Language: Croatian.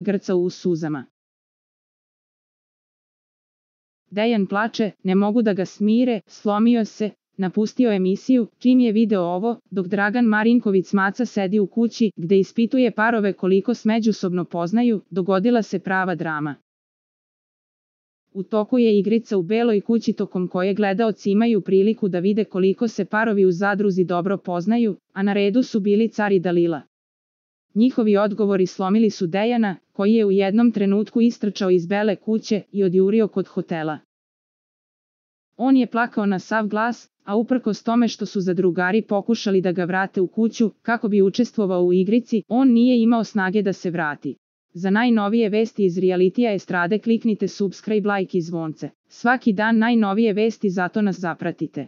grcao u suzama. Dejan plače, ne mogu da ga smire, slomio se, napustio emisiju, čim je video ovo, dok Dragan Marinković Maca sedi u kući, gde ispituje parove koliko se međusobno poznaju, dogodila se prava drama. U toku je igrica u Beloj kući tokom koje gledaoci imaju priliku da vide koliko se parovi u zadruzi dobro poznaju, a na redu su bili Car i Dalila. Njihovi odgovori slomili su Dejana, koji je u jednom trenutku istrčao iz Bele kuće i odjurio kod hotela. On je plakao na sav glas, a uprkos tome što su zadrugari pokušali da ga vrate u kuću, kako bi učestvovao u igrici, on nije imao snage da se vrati. Za najnovije vesti iz realitija estrade kliknite subscribe, like i zvonce. Svaki dan najnovije vesti, zato nas zapratite.